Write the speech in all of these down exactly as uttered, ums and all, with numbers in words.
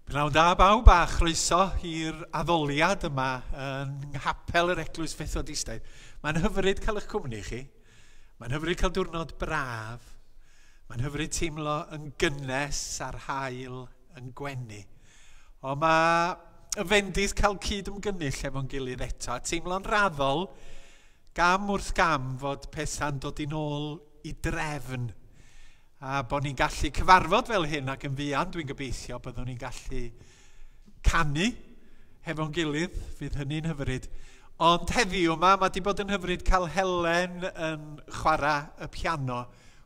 Pnawn da bawb a chroeso i'r addoliad yma yn nghapel yr Eglwys Fethodistaidd. Mae'n hyfryd cael eich cwmni chi. Mae'n hyfryd cael diwrnod braf. Mae'n hyfryd teimlo yn gynnes a'r haul yn gwenu. Ond mae y fendith cael cyd ymgynnull efo'n gilydd eto. A teimlo'n raddol, gam wrth gam, fod pethau'n dod yn ôl i drefn. A bod ni'n gallu cyfarfod fel hyn ac yn fuan, dwi'n gobeithio byddwn ni'n gallu canu hefo'n gilydd, fydd hynny'n hyfryd. Ond heddiw yma, mae wedi bod yn hyfryd cael Helen yn chwarae y piano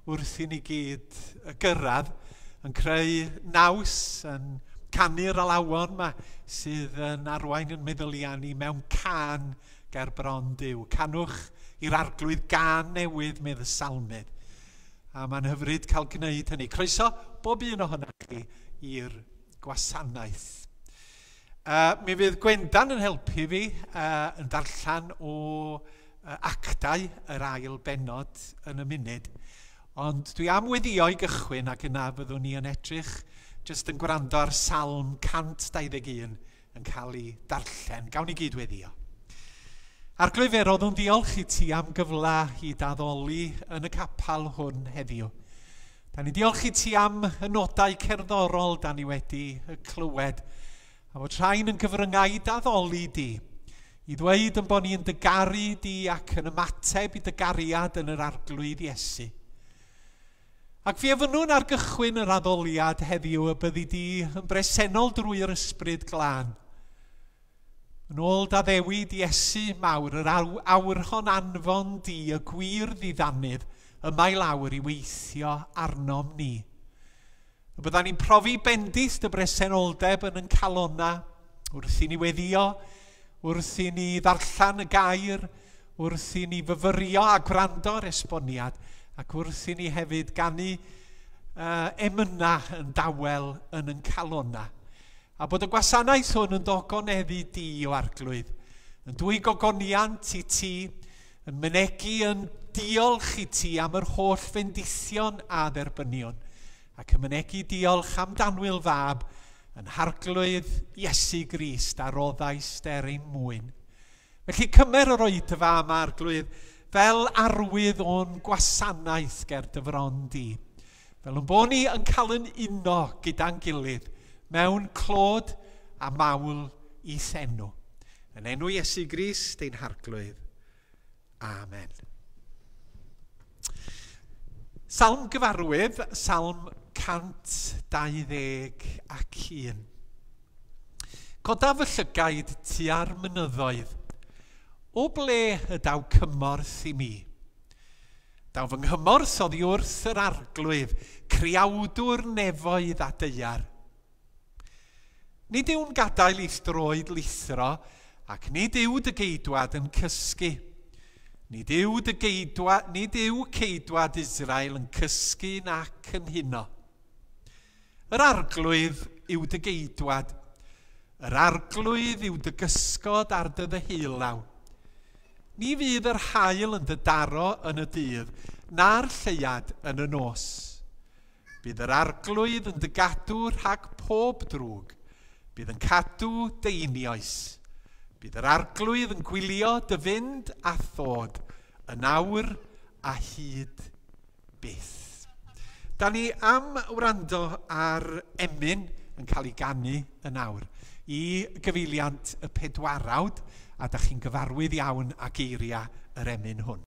wrth i ni gyd gyrraedd, yn creu naws, yn canu'r alawon yma sydd yn arwain yn meddyliau ni mewn cân ger bron Duw. Canwch i'r Arglwydd gân newydd, medd y salmydd. A mae'n hyfryd cael gwneud hynny. Croeso bob un ohonoch chi i'r gwasanaeth. Uh, mi fydd Gwendan yn helpu fi uh, yn darllen o uh, actau yr ail bennod yn y munud. Ond dwi am weddio i gychwyn ac yna fyddwn ni yn edrych jyst yn gwrando ar Salm cant dau ddeg un yn cael ei darllen. Gawn ni gyd weddio. Arglwydd, fe roddwn diolch i ti am gyfle i daddoli yn y capel hwn heddiw. Da ni diolch i ti am y nodau cerddorol da ni wedi clywed, a fod rhain yn gyfryngau i daddoli di, i ddweud yn bod ni'n dygaru di ac yn ymateb i dygariad yn yr Arglwydd Iesu. Ac fi ofynnwn ar gychwyn yr addoliad heddiw y byddi di yn bresennol drwy'r Ysbryd Glân. Yn ôl d'addewid Iesu mawr, yr awrhon anfon di, y gwir ddiddanydd, yma i lawr i weithio arnom ni. Y byddan ni'n profi bendith dy bresenoldeb yn yn calona, wrth i ni weddio, wrth i ni ddarllen y gair, wrth i ni fyfyrio a gwrando ar esboniad, ac wrth i ni hefyd ganu uh, emyna yn dawel yn yn calona. A bod y gwasanaeth hwn yn dogoneddu di o Arglwydd, yn dwy gogoniant i ti, yn mynegi yn diolch i ti am yr holl fendithion a dderbynion, ac yn mynegi diolch am danwyl fab yn Harglwydd Iesu Grist a roddaist er ein mwyn. Felly cymer yr oedfa yma, Arglwydd, fel arwydd o'n gwasanaeth ger dy fron di, fel yn bod ni yn cael yn uno gyda'n gilydd, mewn clod a mawl i thenw. Yn enw Iesu Grist ein Harglwydd. Amen. Salm gyfarwydd, Salm cant dau ddeg ac un. Codaf fy llygaid tua'r mynyddoedd. O ble y daw cymorth i mi? Daw fy nghymorth oddi wrth yr Arglwydd, creawdwr nefoedd a daear. Nid yw'n gadael i'th droed lithro, ac nid yw dy geidwad yn cysgu. Nid yw dy geidwad, nid yw ceidwad Israel yn cysgu nac yn huno. Yr Arglwydd yw dy geidwad. Yr Arglwydd yw dy gysgod ar dy ddeheulaw. Ni fydd yr haul yn dy daro yn y dydd, na'r lleuad yn y nos. Bydd yr Arglwydd yn dy gadw rhag pob drwg. Bydd yn cadw deinioes. Bydd yr Arglwydd yn gwylio dy fynd a thod yn awr a hyd byth. Da ni am wrando ar emyn yn cael ei ganu yn awr i gyfeiliant y pedwarawd, a da chi'n gyfarwydd iawn â geiriau yr emyn hwn.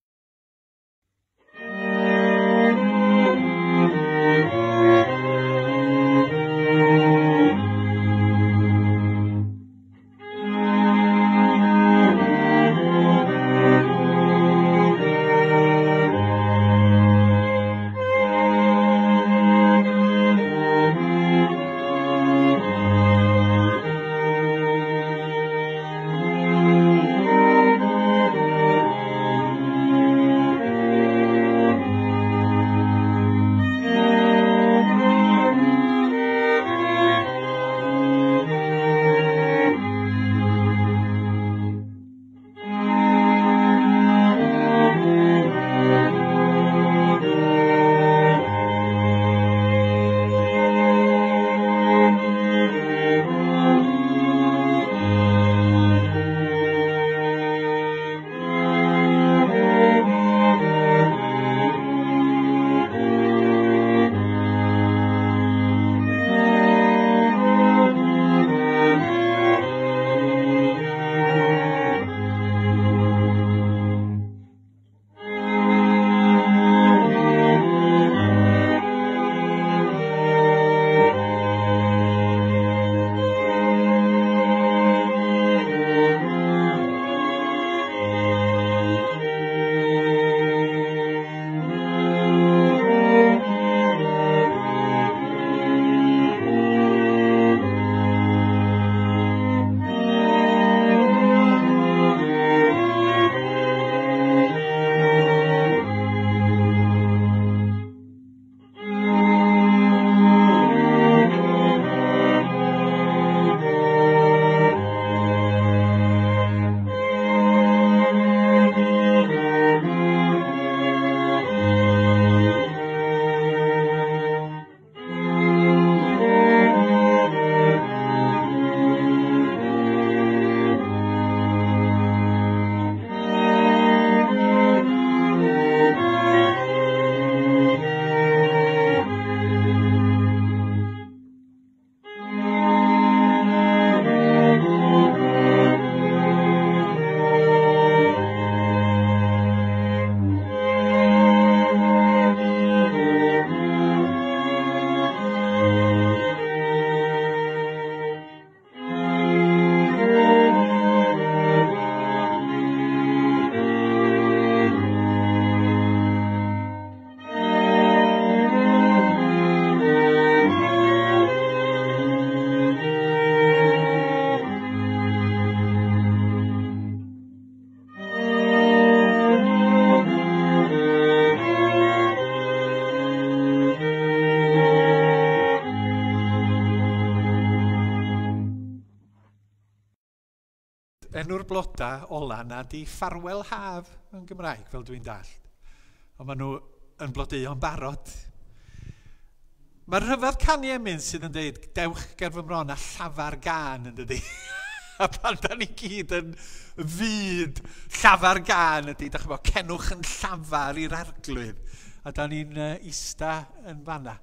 Thank you. Enw'r bloda ola na di ffarwel haf yn Gymraeg, fel dwi'n dallt. Ond maen nhw yn blodeuo'n barod. Mae'r rhyfedd canu emyn sydd yn dweud, dewch ger fy mron a llafar gân yn dydi. A pan da ni gyd yn fyd llafar gân ydy, da chi'n bod, cenwch yn llafar i'r arglwydd. A da ni'n uh, ista yn fanna.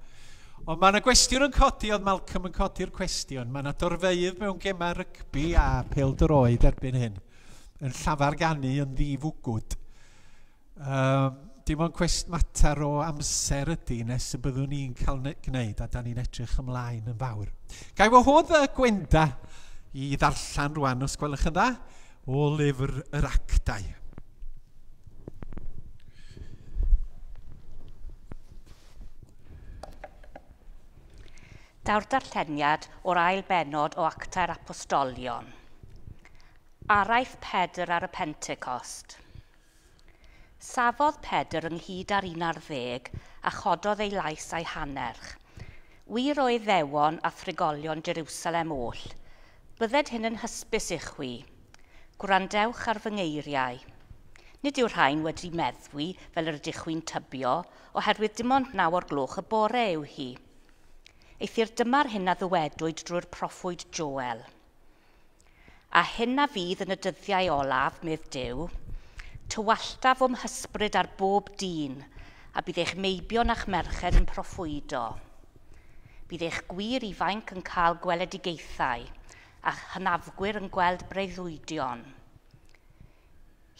Ond mae yna gwestiwn yn codi, oedd Malcolm yn codi'r cwestiwn. Mae yna dorfeydd mewn gemau rygbi a pêl-droed erbyn hyn, yn llafar ganu yn ddifwgwd. Um, dim ond cwest mater o amser ydy nes y byddwn ni'n cael gwneud, a da ni'n edrych ymlaen yn fawr. Ga i wahodd y Gwenda i ddarllen rwan, os gwelwch yn dda, o lyfr yr Actau. Daw'r darlleniad o'r ail bennod o Actau'r Apostolion. Araith Pedr ar y Pentecost. Safodd Pedr ynghyd â'r un ar ddeg a chododd ei lais a'i hannerch. Wir o Iddewon a thrigolion Jerusalem oll, bydded hyn yn hysbys i chwi. Gwrandewch ar fy ngeiriau. Nid yw'r rhain wedi meddwi fel yr ydych chwi'n tybio, oherwydd dim ond naw o'r gloch y bore yw hi. Eithr dyma'r hyn a ddywedwyd drwy'r proffwyd Joel. A hyn a fydd yn y dyddiau olaf, medd Duw, tywalltaf o'm hysbryd ar bob dyn, a bydd eich meibion a'ch merched yn proffwydo. Bydd eich gwir ifainc yn cael gweledigaethau, a'ch hynafgwyr yn gweld breuddwydion.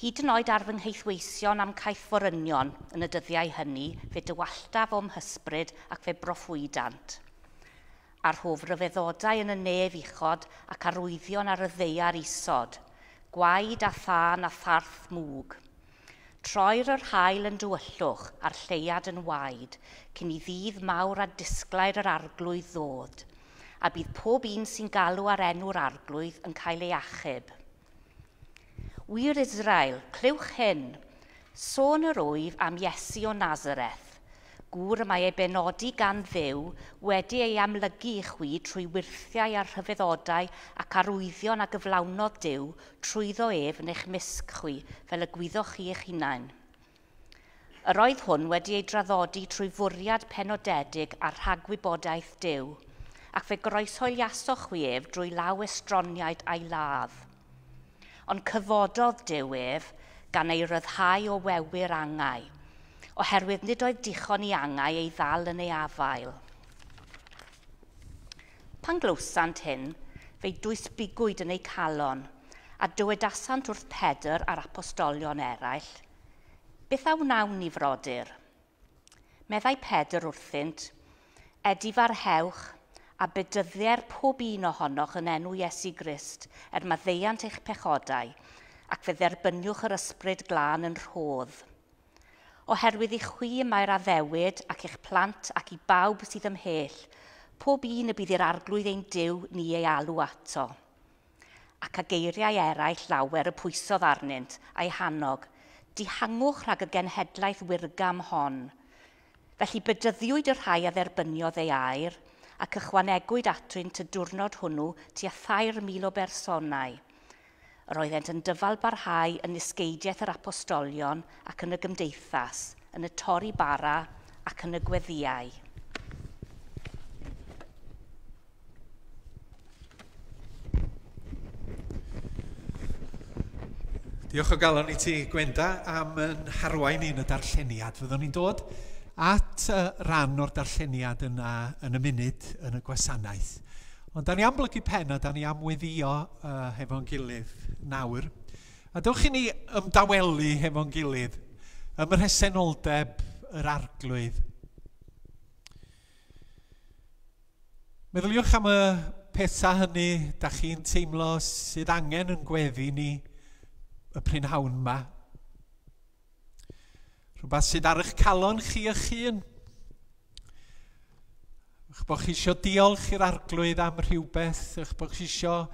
Hyd yn oed ar fy ngheithweision am caethforynion yn y dyddiau hynny, fe dywalltaf o'm hysbryd ac fe broffwydant. A'r hof ryfeddodau yn y nef uchod ac arwyddion ar y ddaear isod, gwaed a thân a tharth mwg. Troir yr haul yn dywyllwch a'r lleuad yn waed, cyn i ddydd mawr a disglair yr arglwydd ddod, a bydd pob un sy'n galw ar enw'r arglwydd yn cael ei achub. Wir Israel, clywch hyn, sôn yr wyf am Iesu o Nazareth, gŵr y mae ei benodi gan Dduw wedi ei amlygu i chwi trwy wyrthiau a rhyfeddodau ac arwyddion a gyflawnodd Duw trwyddo ef yn eich mysg chwi, fel y gwyddoch chi eich hunain. Yr oedd hwn wedi ei draddodi trwy fwriad penodedig a rhagwybodaeth Duw, ac fe groeshoeliasoch chwi ef drwy law estroniaid a'i ladd. Ond cyfododd Duw ef gan ei ryddhau o wewyr angau, oherwydd nid oedd dichon i angau ei ddal yn ei afael. Pan glywsant hyn, fe'i dwysbigwyd yn eu calon, a dywedasant wrth Pedr a'r apostolion eraill, beth a wnawn ni frodyr? Meddai Pedr wrthynt, edifarhewch a bedyddier pob un ohonoch yn enw Iesu Grist er maddeuant eich pechodau, ac fe dderbyniwch yr ysbryd glân yn rhodd. Oherwydd i chwi mae'r addewid ac eich plant ac i bawb sydd ymhell, pob un y bydd i'r arglwydd ein Duw ni ei alw ato. Ac a geiriau eraill lawer y pwysodd arnynt a'i hannog, dihangwch rhag y genhedlaeth wirgam hon. Felly bedyddiwyd y rhai a dderbyniodd ei air, ac ychwanegwyd atynt y diwrnod hwnnw tua thair mil o bersonau. Yr oeddent yn dyfal barhau yn nisgeidiaeth yr apostolion ac yn y gymdeithas, yn y torri bara ac yn y gweddïau. Diolch o galon i ti, Gwenda, am yn harwain ni yn y darlleniad. Fyddwn ni'n dod at ran o'r darlleniad yna yn y munud yn y gwasanaeth. Ond da ni am blygu pen a da ni am weddio uh, hefo'n gilydd nawr. A dewch i ni ymdawelu hefo'n gilydd ym mhresenoldeb yr arglwydd. Meddyliwch am y pethau hynny da chi'n teimlo sydd angen yn gweddi ni y prynhawn yma. Rhywbeth sydd ar eich calon chi eich hun. Eich bod chi eisiau diolch i'r arglwydd am rhywbeth, eich bod chi eisiau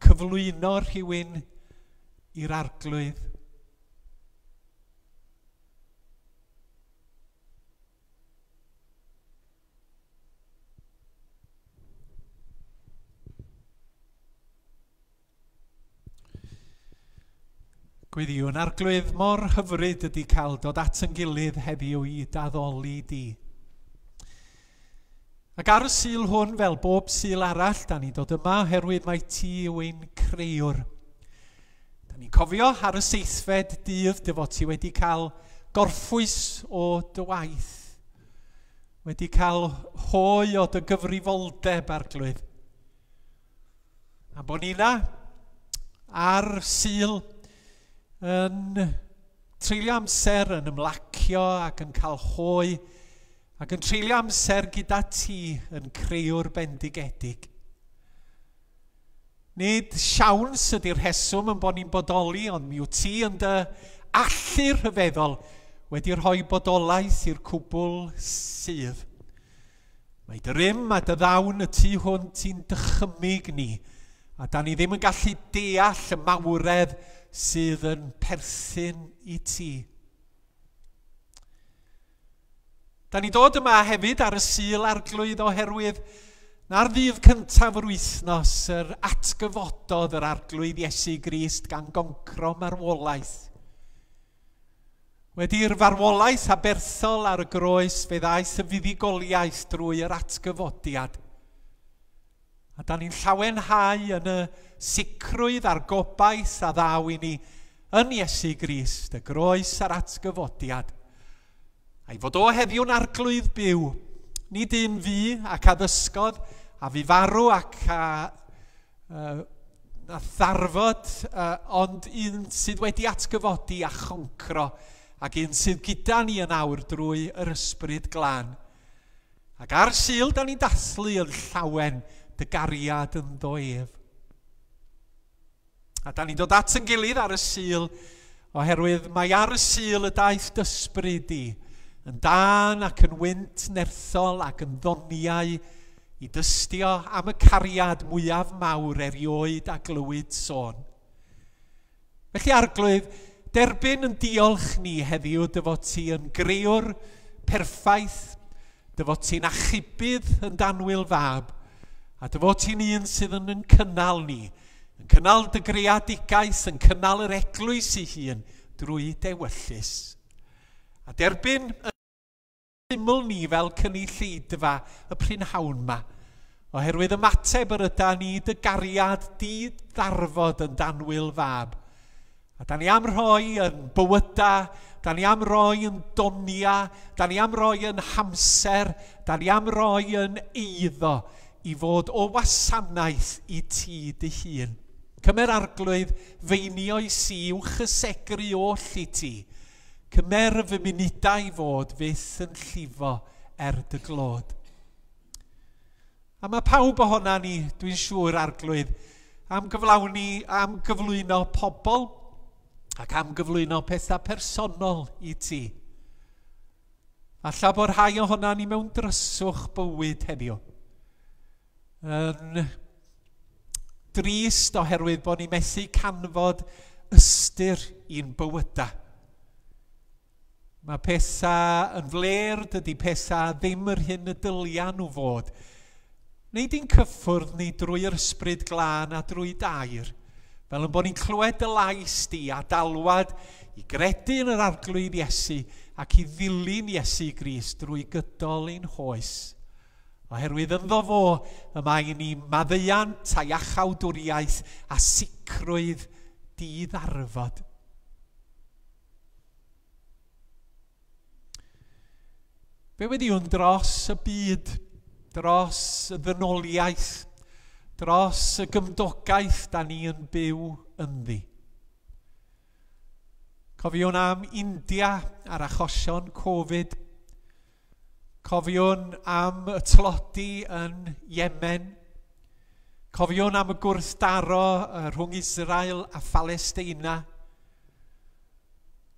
cyflwyno rhywun i'r arglwydd. Gweddïwn, Arglwydd, mor hyfryd ydy cael dod at yn gilydd heddiw i d'addoli di. Ac ar y Sul hwn, fel bob Sul arall, da ni'n dod yma oherwydd mai ti yw ein creuwr. Da ni'n cofio ar y seithfed dydd dy fod ti wedi cael gorffwys o dy waith, wedi cael hoe o dy gyfrifoldeb, Arglwydd. A bod ni 'na ar Sul yn treulio amser yn ymlacio ac yn cael hoe ac yn treulio amser gyda ti yn creuwr bendigedig. Nid siawns ydy'r rheswm yn bod ni'n bodoli, ond mi wyt ti yn dy allu rhyfeddol wedi rhoi bodolaeth i'r cwbl sydd. Mae dy rym a dy ddawn y tu hwnt i'n dychymyg ni, a da ni ddim yn gallu deall y mawredd sydd yn perthyn i ti. Da ni dod yma hefyd ar y Sul Arglwydd oherwydd na'r ddydd cyntaf yr wythnos yr atgyfododd yr Arglwydd Iesu Grist gan goncro marwolaeth. Wedi'r farwolaeth aberthol ar y groes fe ddaeth y fuddugoliaeth drwy yr atgyfodiad. A da ni'n llawenhau yn y sicrwydd a'r gobaith a ddaw i ni yn Iesu Grist, y groes a'r atgyfodiad. A'i fod o heddiw'n arglwydd byw, nid un fu ac a ddysgodd, a fu farw ac a, uh, a ddarfod, uh, ond un sydd wedi atgyfodi a choncro, ac un sydd gyda ni yn awr drwy yr Ysbryd Glân. Ac ar Sul, da ni'n dathlu yn llawen dy gariad ynddo ef. A da ni'n dod at yn gilydd ar y Sul, oherwydd mae ar y Sul y daeth d'ysbryd di, yn dân ac yn wynt nerthol ac yn ddoniau i dystio am y cariad mwyaf mawr erioed a glywyd sôn. Felly Arglwydd, derbyn yn diolch ni heddiw dy fod ti yn grëwr perffaith, dy fod ti'n achubydd yn d'annwyl fab, a dy fod ti'n un sydd yn yn cynnal ni, yn cynnal dy greadigaeth, yn cynnal yr eglwys ei hun drwy d'ewyllys. A derbyn yn syml ni fel cynulleidfa y prynhawn ma, oherwydd ymateb yr yda ni dy gariad di ddarfod yn d'annwyl fab. A da ni am roi yn bywyda, da ni am roi yn donia, da ni am roi yn hamser, da ni am roi yn eiddo i fod o wasanaeth i ti dy hun. Cymer Arglwydd feinioes i i'w chysegru oll i ti. Cymer fy munudau i fod fyth yn llifo er dy glod. A mae pawb ohona ni, dwi'n siŵr, Arglwydd, am gyflawni, am gyflwyno pobl ac am gyflwyno pethau personol i ti. Alla bod rhai ohona ni mewn dryswch bywyd heddiw. Yn drist oherwydd bod ni methu canfod ystyr i'n bywydau. Mae pethau yn fler, dydy pethau ddim yr hyn y dylia nhw fod. Neu di'n cyffwrdd ni drwy'r Ysbryd Glân a drwy dair, fel yn bod ni'n clywed dy lais di a dalwad i gredu yn yr Arglwydd Iesu ac i ddilyn Iesu Grist drwy gydol ein hoes. Oherwydd ynddo fo y mae ni maddeuant a iachawdwriaeth a sicrwydd di-ddarfod. Fe wediwn dros y byd, dros y ddynoliaeth, dros y gymdogaeth da ni yn byw ynddi. Cofiwn am India a'r achosion Covid. Cofiwn am y tlodi yn Yemen. Cofiwn am y gwrthdaro rhwng Israel a Phalesteina.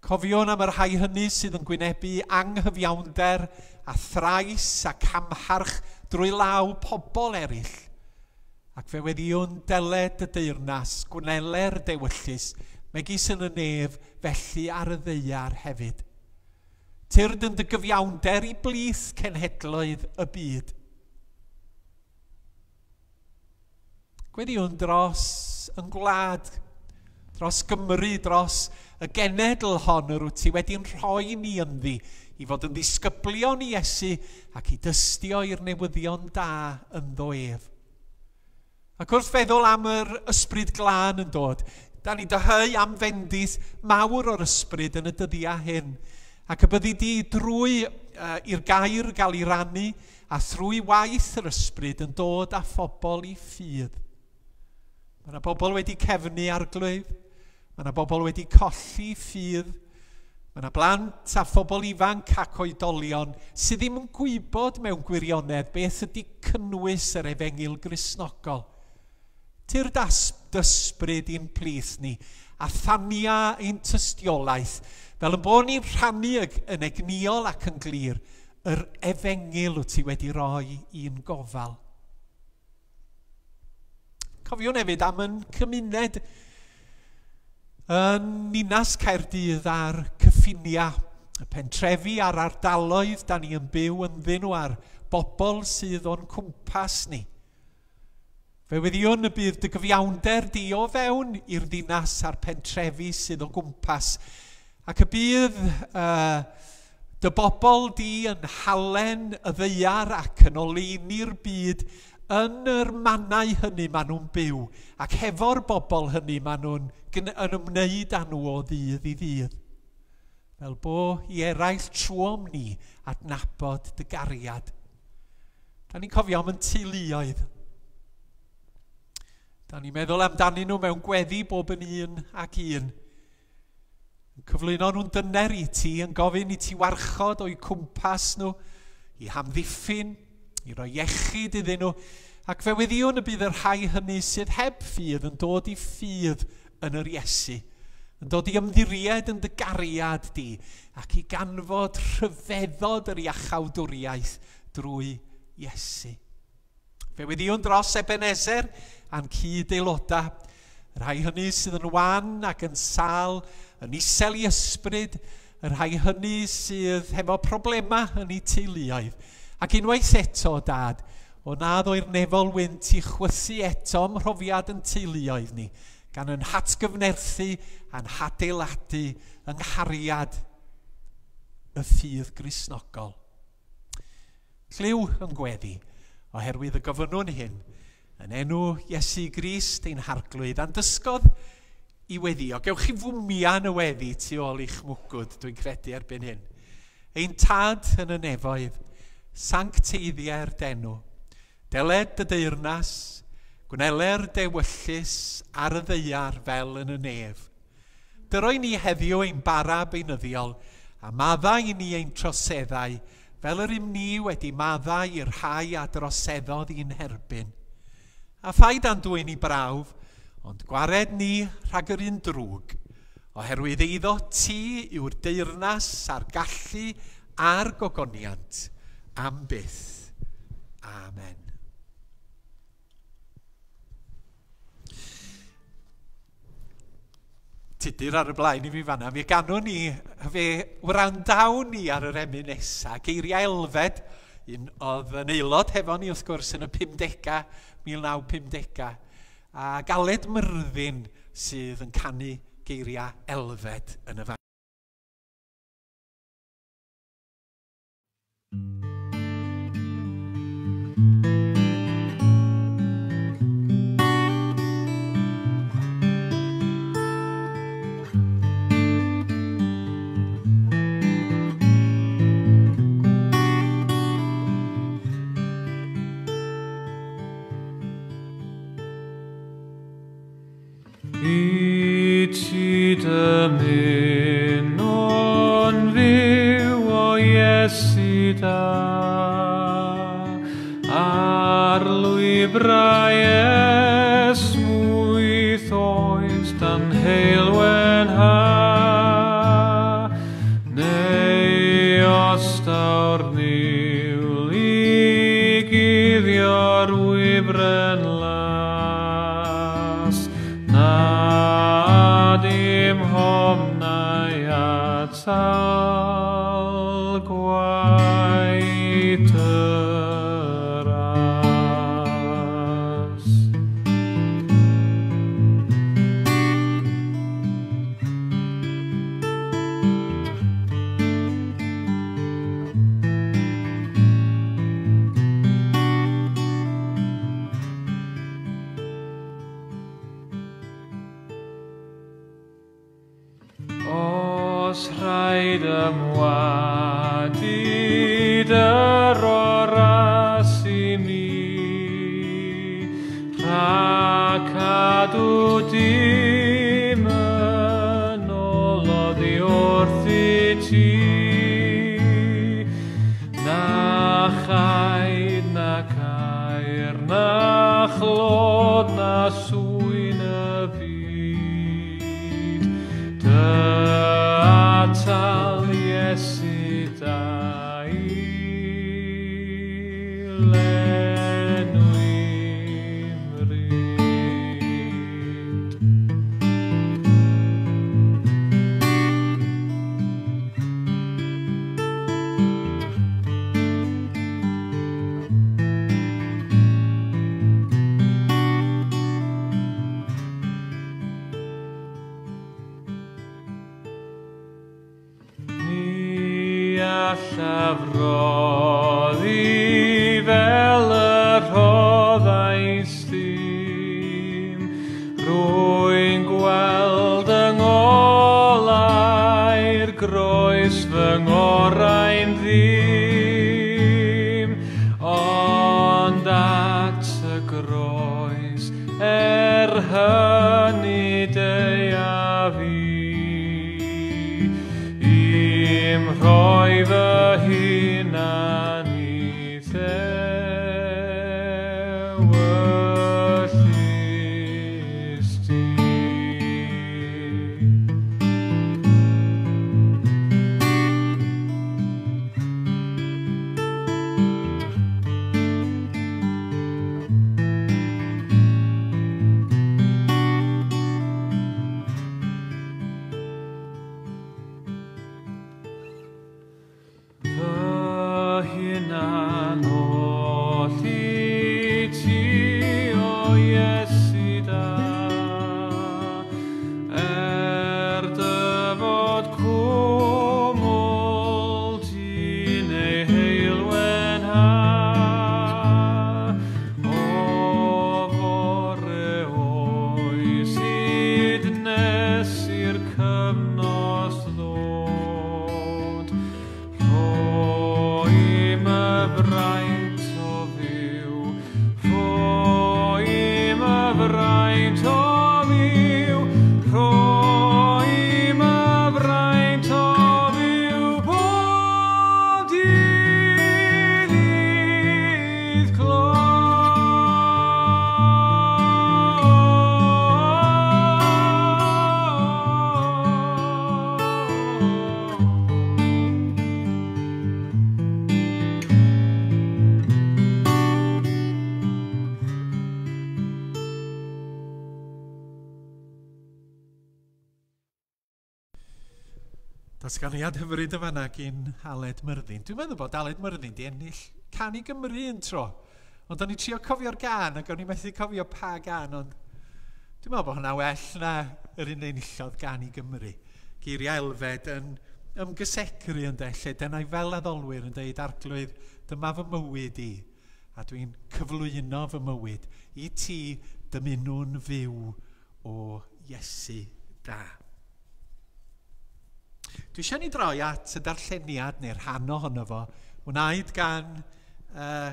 Cofiwn am y rhai hynny sydd yn gwynebu anghyfiawnder a thrais a camharch drwy law pobl eraill. Ac fe weddiwn deled y deyrnas, gwneler dewyllys, megis yn y nef, felly ar y ddaear hefyd. Tyrd yn dy gyfiawnder i blith cenhedloedd y byd. Gweddiwn dros yn gwlad, dros Gymru, dros y genedl hon yr wyt ti wedi'n rhoi ni ynddi i fod yn ddisgyblion i Iesu ac i dystio i'r newyddion da ynddo ef. Ac wrth feddwl am yr ysbryd glân yn dod, da ni'n dyheu am fendith mawr o'r ysbryd yn y dyddiau hyn. Ac y byddi di drwy uh, i'r gair gael ei rannu a thrwy waith yr ysbryd yn dod â phobl i ffydd. Mae yna bobl wedi cefnu Arglwydd, mae yna bobl wedi colli ffydd, mae yna blant a phobl ifanc ac oedolion sydd ddim yn gwybod mewn gwirionedd beth ydy cynnwys yr efengyl Gristnogol. Tyrd ysbryd i'n plith ni a thania ein tystiolaeth, fel yn bod ni'n rhannu yn egnïol ac yn glir, yr efengyl wyt ti wedi roi i'n gofal. Cofiwn hefyd am yn cymuned yn Ninas Caerdydd a'r cyffiniau, y pentrefi a'r ardaloedd da ni yn byw ynddyn nhw a'r bobl sydd o'n cwmpas ni. Fe weddïwn y bydd dy gyfiawnder di o fewn i'r ddinas a'r pentrefi sydd o gwmpas, ac y bydd uh, dy bobl di yn halen y ddaear ac yn oleuni'r byd yn yr mannau hynny maen nhw'n byw, ac hefo'r bobl hynny maen nhw'n yn ymwneud â nhw o ddydd i ddydd. Fel bo i eraill trwom ni adnabod dy gariad. Da ni'n cofio am yn teuluoedd. Da ni'n meddwl amdanyn nhw mewn gweddi bob yn un ac un. Yn cyflwyno nhw'n dyner i ti, yn gofyn i ti warchod o'u cwmpas nhw, i hamddiffyn, i roi iechyd iddyn nhw, ac fe weddïwn y bydd y rhai hynny sydd heb ffydd yn dod i ffydd yn yr Iesu, yn dod i ymddiried yn dy gariad di, ac i ganfod rhyfeddod yr iachawdwriaeth drwy Iesu. Fe weddïwn dros Ebenezer a'n cyd-aelodau, y rhai hynny sydd yn wan ac yn sâl, yn isel i ysbryd, y rhai hynny sydd hefo problemau yn eu teuluoedd. Ac unwaith eto, Dad, o na ddoi'r nefol wynt i chwythu eto ym mhrofiad yn teuluoedd ni, gan yn hatgyfnerthu a'n hadeiladu yng nghariad y ffydd Gristnogol. Clyw yn gweddi, oherwydd y gofynnwn hyn, yn enw Iesu Grist ein Harglwydd, a'n dysgodd i weddio. Gewch chi fwmian y weddi tu ôl i'ch mwgwd, dwi'n credu erbyn hyn. Ein Tad yn y nefoedd, sancteiddiau'r denw, deled dy deyrnas, gwneler dewyllys ar y ddaear fel yn y nef. Dyroi ni heddiw ein bara beunyddiol, a maddau i ni ein troseddau, fel yr ym ni wedi maddau i'r rhai a droseddodd i'n herbyn. A phaid a'n dwyn i brawf, ond gwared ni rhag yr un drwg, oherwydd eiddo ti yw'r deyrnas a'r gallu a'r gogoniant am byth. Amen. Tudur ar y blaen i fi fanna, mi ganwn ni, fe wrandawn ni ar yr emyn nesa, geiriau Elfed, un oedd yn aelod hefo ni wrth gwrs yn y pumdegau, mil naw pumdegau, a Galed Myrddin sydd yn canu geiriau Elfed yn y fan. I ti dymuno'n fyw o Iesu da, ar lwybrau esmwyth oes dan heulwen ha, neu os daw'r niwl i guddio'r wybren las, na dim homnau atal gwaith y ras. Os rhaid ymwadu dy oras i mi, rhag cadw dim yn ôl oddi wrthyt ti, na chaid na caer na chlod na swyn y byd, dy atal Iesu da i lenwi mryd. Ni allaf roddi fel y rhoddais dim, rwy'n gweld yng ngolau'r groes fy ngorau'n ddim, ond at y groes er hynny deuaf i, i'm rhoi fy hunan i ddewyllys di. Fy hunan oll i ti, o Iesu da, er dy fod cwmwl ti'n ei heulwen ha, o fore oes hyd nes i'r cyfnos ddod, rhoi my fraint o fyw, rhoi my fraint o fyw, rhoi my fraint o fyw bob dydd i'th glod. Datganiad hyfryd y fanna gyn Aled Myrddin. Dwi'n meddwl bod Aled Myrddin di ennill Can i Gymru un tro. Ond o'n i trio cofio'r gan ac o'n i methu cofio pa gan, ond dwi'n meddwl bod hwnna well na yr un enillodd Gan i Gymru. Geiriau Elfed yn ymgysegru yn de, lle dyna i fel addolwyr yn deud, Arglwydd, dyma fy mywyd i, a dwi'n cyflwyno fy mywyd i ti dymunwn fyw o Iesu da. Dwi eisiau ni droi at y darlleniad neu'r rhan ohono fo, wnaed gan uh,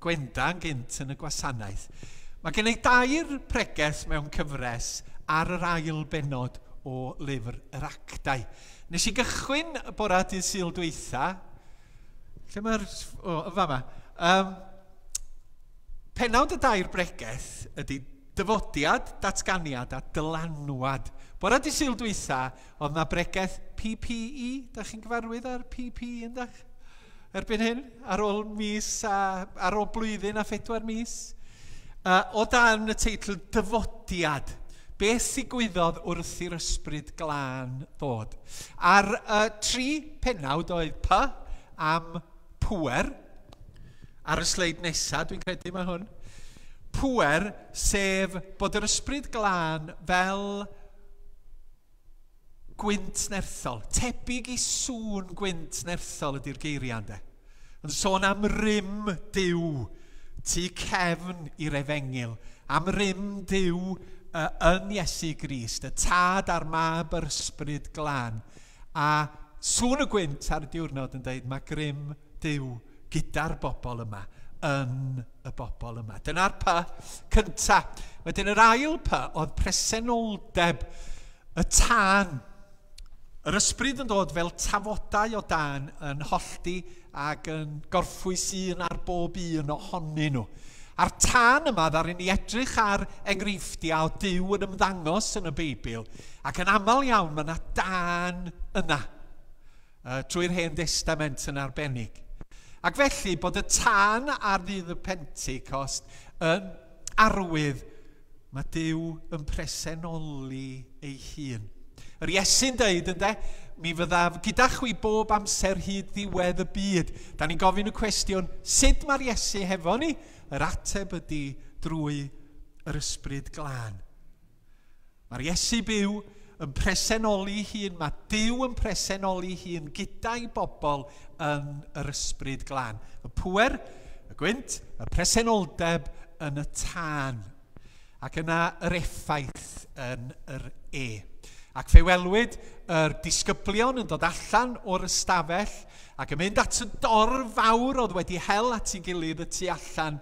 Gwenda yn gynt yn y gwasanaeth. Mae gen i dair pregeth mewn cyfres ar yr ail bennod o lyfr yr Actau. Nes i gychwyn y bora dydd Sul dwytha. Lle mae'r... O, yn fama. Um, penawd y dair bregeth ydy dyfodiad, datganiad a dylanwad. Bora dydd Sul dwytha, oedd na bregeth P P E. Da chi'n gyfarwydd ar P P E yndach? Erbyn hyn, ar ôl mis a, ar ôl blwyddyn a phedwar mis. Uh, o dan y teitl Dyfodiad, beth ddigwyddodd wrth i'r ysbryd glân ddod? Ar uh, tri pennawd oedd P am pŵer. Ar y sleid nesaf, dwi'n credu mae hwn. Pŵer, sef bod yr ysbryd glân fel gwynt nerthol. Tebyg i sŵn gwynt nerthol ydy'r geiriau ynde. Yn sôn am rym Duw, tu cefn i'r efengyl, am rym Duw uh, yn Iesu Grist, y Tad a'r Mab yr Ysbryd Glân, A sŵn y gwynt ar y diwrnod yn dweud mae grym Duw gyda'r bobl yma, yn y bobl yma. Dyna'r P cynta. Wedyn yr ail P oedd presenoldeb, y tân. Yr ysbryd yn dod fel tafodau o dân yn hollti ac yn gorffwys un ar bob un ohonyn nhw. A'r tân yma ddaru ni edrych ar enghreifftiau o Duw yn ymddangos yn y Beibl, ac yn aml iawn mae yna dân yna, trwy'r Hen Destament yn arbennig. Ac felly bod y tân ar ddydd y Pentecost yn arwydd mae Duw yn presenoli ei hun. Yr Iesu'n deud, ynde, mi fyddaf gyda chwi bob amser hyd ddiwedd y byd. Da ni'n gofyn y cwestiwn, sut mae'r Iesu hefo ni? Yr ateb ydy drwy yr Ysbryd Glân. Mae'r Iesu byw yn presenoli hun, mae Duw yn presenoli hun gyda'i bobl yn yr Ysbryd Glân. Y pŵer, y gwynt, y presenoldeb yn y tân. Ac yna yr effaith yn yr E. Ac fe welwyd yr disgyblion yn dod allan o'r ystafell ac yn mynd at y dorf fawr oedd wedi hel at ei gilydd y tu allan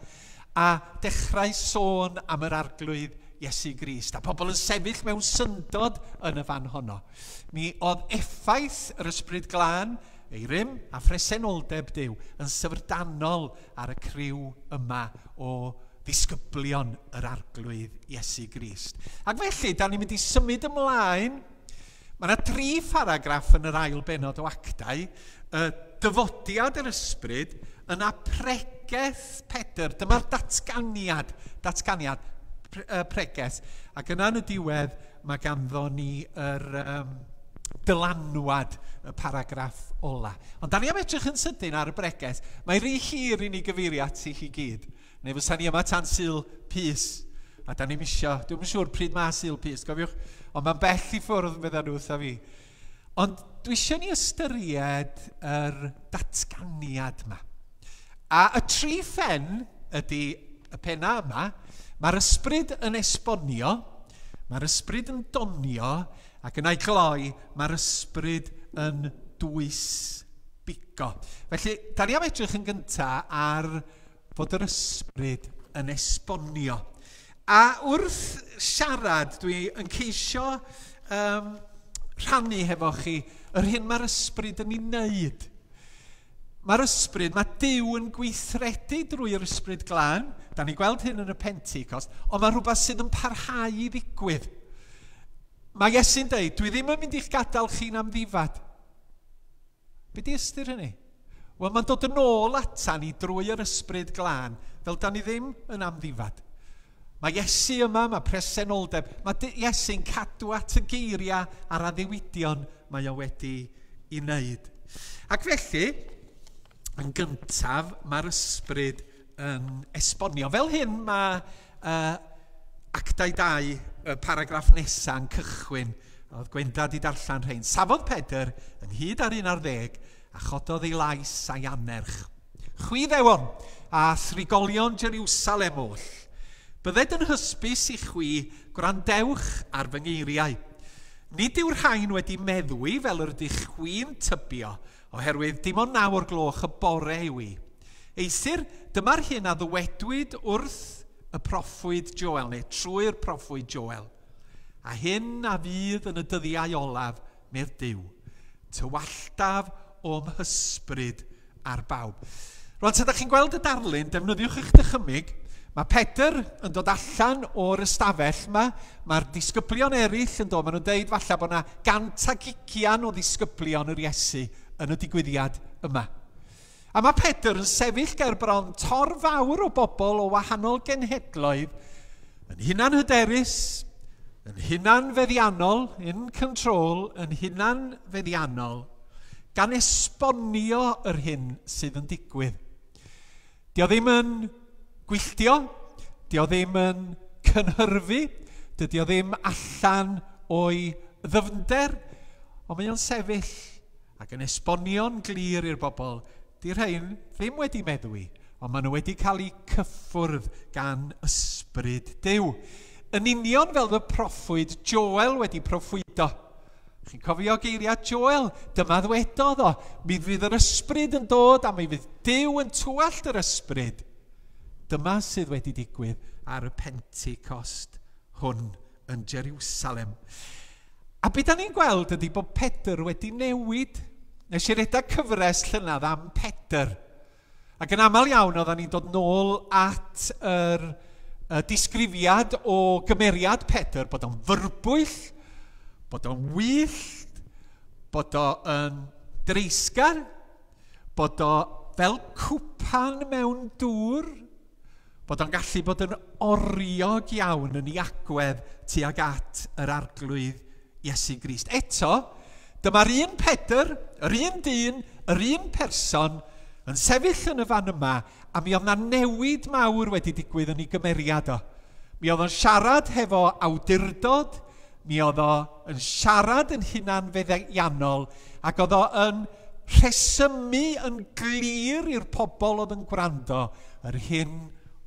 a dechrau sôn am yr Arglwydd Iesu Grist. A pobl yn sefyll mewn syndod yn y fan honno. Mi oedd effaith yr Ysbryd Glân, ei rym a phresenoldeb Duw yn syfrdanol ar y criw yma o ddisgyblion yr Arglwydd Iesu Grist. Ac felly, da ni'n mynd i symud ymlaen. Mae yna dri pharagraff yn yr ail bennod o Actau. Y dyfodiad yr ysbryd, yna pregeth Pedr. Dyma'r datganiad, datganiad pre, uh, pregeth. Ac yna yn y diwedd, mae ganddo ni yr um, dylanwad, y paragraff ola. Ond da ni am edrych yn sydyn ar y bregeth. Mae rhy hir i ni gyfeirio ati chi gyd. Neu fysa ni yma tan Sul Pys. A da ni'n isio, dwi'm yn siŵr pryd mae Sul Pys, gofiwch, ond mae'n bell i ffwrdd medda nhw wrtha fi. Ond dwi eisiau ni ystyried yr datganiad yma. A y tri phen ydy y penna yma. Mae'r ysbryd yn esbonio, mae'r ysbryd yn donio, ac yn ei gloi, mae'r ysbryd yn dwys bigo. Felly, da ni am edrych yn gyntaf ar fod yr ysbryd yn esbonio. A wrth siarad, dwi yn ceisio um, rhannu hefo chi yr hyn mae'r ysbryd yn ei wneud. Mae'r ysbryd, mae Duw yn gweithredu drwy'r Ysbryd Glân. Da ni gweld hyn yn y Pentecost, ond mae rhywbeth sydd yn parhau i ddigwydd. Mae Iesu'n deud, dwi ddim yn mynd i'ch gadael chi'n amddifad. Be di ystyr hynny? Wel, mae'n dod yn ôl ata ni drwy yr Ysbryd Glân, fel da ni ddim yn amddifad. Mae Iesu yma, mae presenoldeb. Mae Iesu'n cadw at y geiriau a'r addewidion mae o wedi ei wneud. Ac felly, yn gyntaf, mae'r ysbryd yn esbonio. Fel hyn mae uh, Actau dau, y paragraff nesaf yn cychwyn. Oedd Gwenda di darllen rhain. Safodd Pedr ynghyd ar un ar ddeg a chododd ei lais a'i anerch. Chwi ddewon a thrigolion Jerusalem oll, bydded yn hysbys i chwi, gwrandewch ar fy ngeiriau. Nid yw'r rhain wedi meddwi fel yr ydych chwi'n tybio, oherwydd dim ond naw o'r gloch y bore yw i. Eithr, dyma'r hyn a ddywedwyd wrth y proffwyd Joel, neu trwy'r proffwyd Joel. A hyn a fydd yn y dyddiau olaf, medd Duw, tywalltaf o'm hysbryd ar bawb. Rwan, sa ydych chi'n gweld y darlun, defnyddiwch eich dychymyg. Mae Pedr yn dod allan o'r ystafell yma. Mae'r disgyblion eraill yn dod. Maen nhw'n deud falle bod yna gant ag ugian o ddisgyblion yr Iesu yn y digwyddiad yma. A mae Pedr yn sefyll ger bron torf fawr o bobl o wahanol genhedloedd, yn hunan hyderus, yn hunan feddiannol, in control, yn hunan feddiannol, gan esbonio yr hyn sydd yn digwydd. Dio ddim yn gwylltio, dio ddim yn cynhyrfu, dydy o ddim allan o'i ddyfnder, ond mae o'n sefyll ac yn esbonio'n glir i'r bobl. Di'r rhain ddim wedi meddwi, ond maen nhw wedi cael eu cyffwrdd gan ysbryd Duw. Yn union fel y proffwyd Joel wedi proffwydo. Chi'n cofio geiriau Joel? Dyma ddwedodd o. Mi fydd yr ysbryd yn dod a mi fydd Duw yn twallt yr ysbryd. Dyma sydd wedi digwydd ar y Pentecost hwn yn Jerusalem. A be da ni'n gweld ydy bod Pedr wedi newid. Nes i redeg cyfres llynedd am Pedr. Ac yn aml iawn oedden ni'n dod nôl at yr, y disgrifiad o gymeriad Pedr, bod o'n fyrbwyll, bod o'n wyllt, bod o'n dreisgar, bod o fel cwpan mewn dŵr, bod o'n gallu bod yn oriog iawn yn ei agwedd tuag at yr Arglwydd Iesu Grist. Eto, dyma'r un Pedr, yr un dyn, yr un person yn sefyll yn y fan yma, a mi oedd 'na newid mawr wedi digwydd yn ei gymeriad o. Mi oedd o'n siarad hefo awdurdod, mi oedd o yn siarad yn hunanfeddiannol, ac oedd o yn rhesymu yn glir i'r pobl oedd yn gwrando yr hyn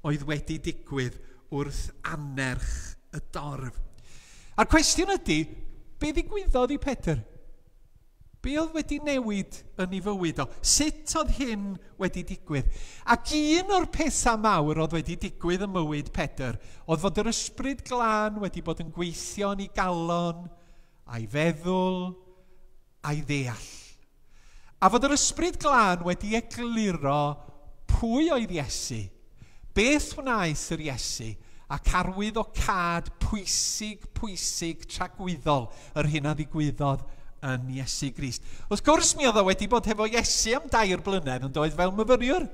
oedd wedi digwydd wrth annerch y dorf. A'r cwestiwn ydy, be ddigwyddodd i Pedr? Be oedd wedi newid yn ei fywyd o? Sut oedd hyn wedi digwydd? Ac un o'r pethau mawr oedd wedi digwydd ym mywyd Pedr oedd fod yr Ysbryd Glân wedi bod yn gweithio yn ei galon, a'i feddwl, a'i ddeall. A fod yr Ysbryd Glân wedi egluro pwy oedd Iesu, beth wnaeth yr Iesu, ac arwydd o cad pwysig, pwysig, tragwyddol yr hyn a ddigwyddodd yn Iesu Grist. Wrth gwrs, mi oedd o wedi bod hefo Iesu am dair blynedd yn doedd fel myfyriwr.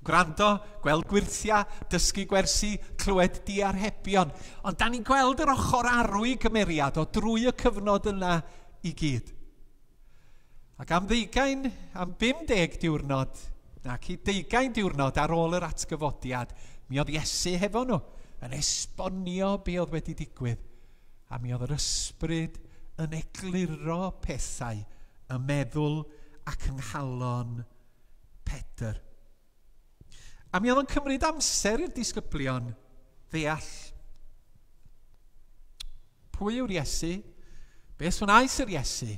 Gwrando, gweld gwyrthiau, dysgu gwersi, clywed diarhebion. Ond da ni'n gweld yr ochr arw i gymeriad o drwy y cyfnod yna i gyd. Ac am ddeugain, am bum deg diwrnod, nac i deugain diwrnod ar ôl yr atgyfodiad, mi oedd Iesu hefo nhw yn esbonio be oedd wedi digwydd. A mi oedd yr ysbryd yn egluro pethau, y meddwl ac yng nghalon Pedr. A mi oedd o'n cymryd amser i'r disgyblion ddeall pwy yw'r Iesu, beth wnaeth yr Iesu,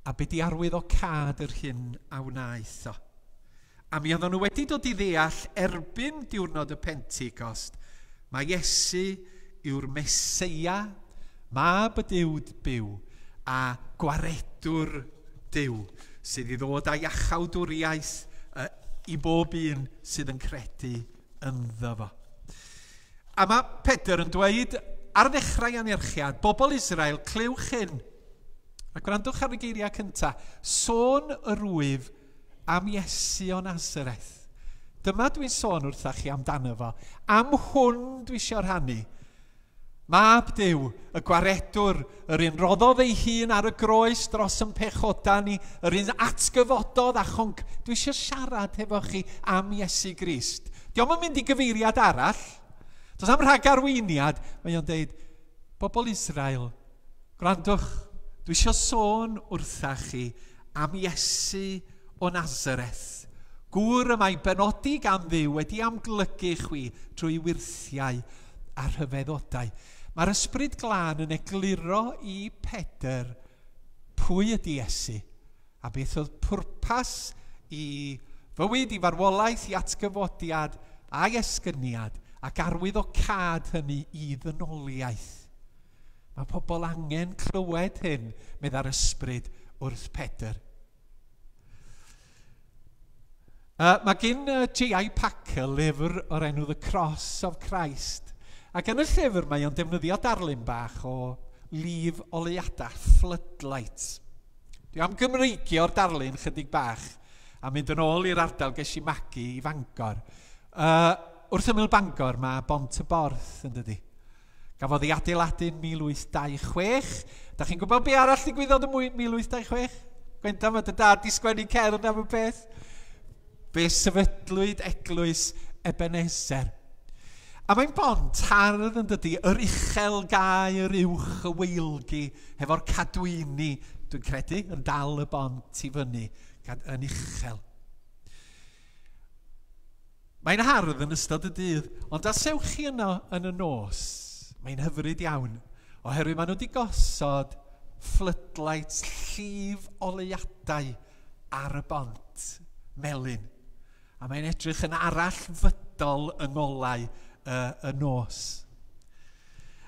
a be di arwydd o cad yr hyn a wnaeth o. A mi oedden nhw wedi dod i ddeall erbyn diwrnod y Pentecost, mae Iesu yw'r Meseia, mab y Duw byw a gwaredwr Duw sydd i ddod â iachawdwriaeth uh, i bob un sydd yn credu ynddo fo. A mae Pedr yn dweud ar ddechrau anerchiad, bobl Israel, clywch hyn. A gwrandwch ar y geiriau cyntaf, sôn yr wyf am Iesu o Nazareth. Dyma dwi'n sôn wrthach chi amdano fo. Am hwn dwi eisiau rhannu. Mab Duw, y gwaredwr, yr un roddodd ei hun ar y groes dros yn pechoda ni, yr un atgyfododd a chonc. Dwi eisiau siarad hefo chi am Iesu Grist. Dio'm yn mynd i gyfeiriad arall. Does am rhagarweiniad. Mae o'n deud, bobl Israel, gwrandwch, dwi eisiau sôn wrthach chi am Iesu o Nazareth. Gŵr y mae benodi gan Dduw wedi amglygu chwi trwy wyrthiau a rhyfeddodau. Mae'r Ysbryd Glân yn egluro i Pedr pwy ydy Iesu a beth oedd pwrpas i fywyd, i farwolaeth, i atgyfodiad a'i esgyniad ac arwydd o cad hynny i ddynoliaeth. Mae pobl angen clywed hyn, medda'r Ysbryd wrth Pedr. Uh, mae gen uh, J I Packer lyfr o'r enw The Cross of Christ. Ac yn y llyfr mae o'n defnyddio darlun bach o lif oleuadau, floodlights. Dwi am Gymreigio'r darlun chydig bach a mynd yn ôl i'r ardal ges i magu i Fangor. Uh, wrth ymyl Bangor mae Bont y Borth yn dydi. Gafodd ei adeiladu yn mil wyth dau chwech. Da chi'n gwybod be arall ddigwyddodd yn mil wyth dau chwech? Gwenda, mae dy dad di sgwennu cerdd am y peth. Fe sefydlwyd eglwys Ebenezer. A mae'n bont hardd yn dydi, yr uchel gau, yr uwch y weilgi, hefo'r cadwyni, dwi'n credu, yn dal y bont i fyny, yn uchel. Mae'n hardd yn ystod y dydd, ond as ewch chi yno yn y nos, mae'n hyfryd iawn, oherwydd maen nhw wedi gosod floodlights, llif oleuadau ar y bont melyn. A mae'n edrych yn arallfydol yng ngolau y, y nos.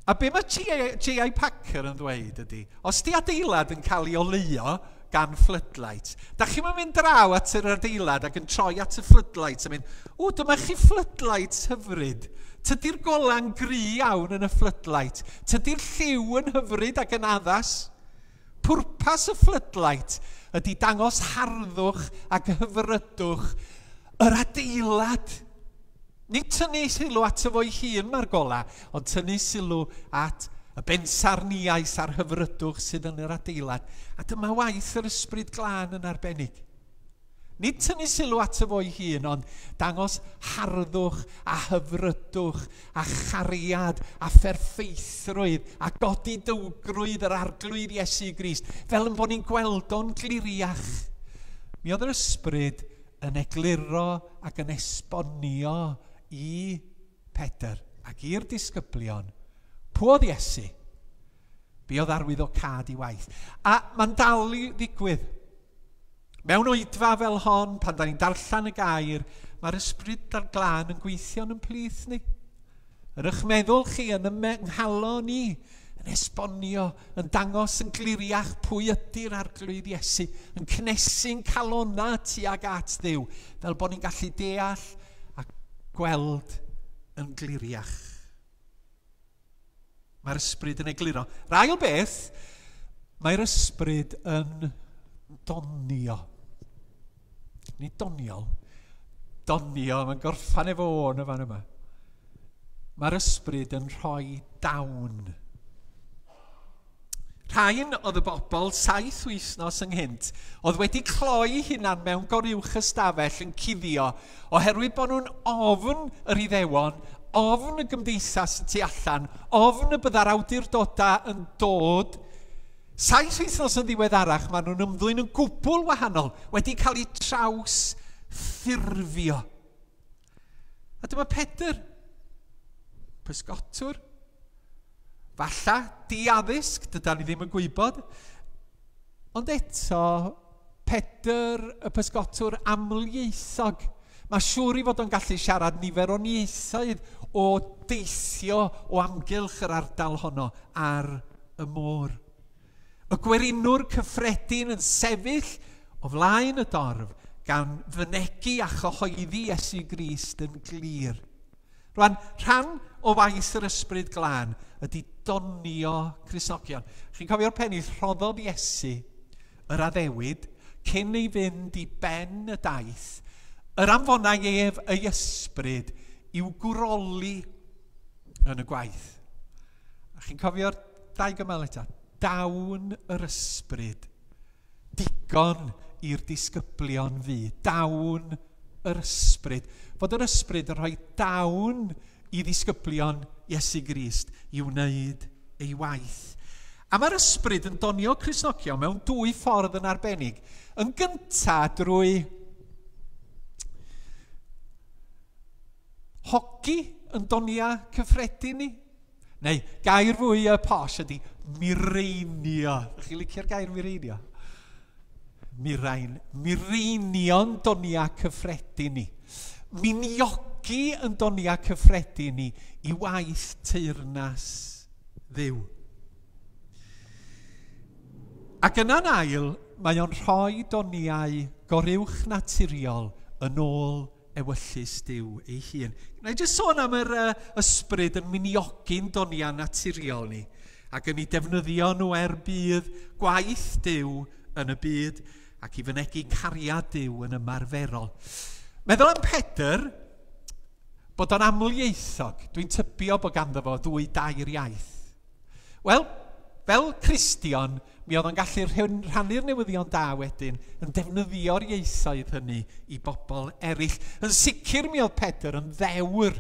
A be mae J I Packer yn ddweud ydy, os di adeilad yn cael ei oleuo gan floodlights, da chi'n mynd draw at yr adeilad ac yn troi at y floodlights a mynd, o, dyma chi floodlights hyfryd. Tydi'r gola'n gry iawn yn y floodlight. Tydi'r lliw yn hyfryd ac yn addas. Pwrpas y floodlight ydy dangos harddwch ac hyfrydwch yr adeilad. Nid tynnu sylw at y fo'i hun mae'r gola, ond tynnu sylw at y bensarniaeth a'r hyfrydwch sydd yn yr adeilad. A dyma waith yr Ysbryd Glân yn arbennig. Nid tynnu sylw at y fo'i hun, ond dangos harddwch a hyfrydwch a chariad a pherffeithrwydd a godidowgrwydd yr Arglwydd Iesu Grist, fel yn bod ni'n gweld o'n gliriach. Mi oedd yr Ysbryd yn egluro ac yn esbonio i Pedr ac i'r disgyblion pwy oedd Iesu, be oedd arwyddocâd i waith. A mae'n dal i ddigwydd. Mewn oedfa fel hon, pan da ni'n darllen y gair, mae'r Ysbryd a'r Glân yn gweithio yn plith ni. Yn eich meddwl chi, yn yng nghalon ni, yn esbonio, yn dangos yn gliriach pwy ydy'r Arglwydd Iesu, yn cnesu'n calona tuag at Dduw, fel bod ni'n gallu deall a gweld yn gliriach. Mae'r Ysbryd yn egluro. Yr ail beth, mae'r Ysbryd yn donio. Nid doniol. Donio, mae'n gorffan efo o'n y fan yma. Mae'r Ysbryd yn rhoi dawn. Rhain oedd y bobl saith wythnos ynghynt oedd wedi cloi hunan mewn goruwch ystafell yn cuddio oherwydd bod nhw'n ofn yr Iddewon, ofn y gymdeithas y tu allan, ofn y bydda'r awdurdodau yn dod. Saith wythnos yn ddiweddarach, maen nhw'n ymddwyn yn gwbl wahanol, wedi cael eu traws ffurfio. A dyma Pedr, pysgotwr, falla diaddysg, dydan ni ddim yn gwybod, ond eto Pedr y pysgotwr amlieithog. Mae siŵr i fod o'n gallu siarad nifer o ieithoedd o deithio o amgylch yr ardal honno ar y môr. Y gwerinwr cyffredin yn sefyll o flaen y dorf gan fynegi a chyhoeddi Iesu Grist yn glir. Rwan, rhan o waith yr Ysbryd Glân ydy donio Cristnogion. Chi'n cofio'r pennill, rhoddodd Iesu yr addewid cyn ei fynd i ben y daith, yr anfonai ef ei ysbryd i'w gwroli yn y gwaith. A chi'n cofio'r dau gymal eto? Dawn yr ysbryd, digon i'r disgyblion fu. Dawn yr ysbryd. Fod yr ysbryd yn rhoi dawn i ddisgyblion Iesu Grist i wneud ei waith. A mae'r ysbryd yn donio Cristnogion mewn dwy ffordd yn arbennig. Yn gyntaf drwy hogi yn donia cyffredin ni. Neu gair fwy y posh ydy mireinio. Ydych chi'n licio'r gair mireinio? Mirain. Mireinio'n donia cyffredin ni. Miniogi yn donia cyffredin ni i waith teyrnas Dduw. Ac yna'n ail, mae o'n rhoi doniau goruwch naturiol yn ôl ewyllys Duw ei hun. Na i jyst sôn am yr uh, ysbryd yn miniogi'n doniau naturiol ni, ac yn ei defnyddio nhw er budd gwaith Duw yn y byd ac i fynegi cariad Duw yn ymarferol. Meddwl am Pedr, bod o'n amlieithog. Dwi'n tybio bod ganddo fo ddwy dair iaith. Wel, fel Cristion, mi oedd o'n gallu rhannu'r newyddion da wedyn yn defnyddio'r ieithoedd hynny i bobl eraill. Yn sicr mi oedd Pedr yn ddewr.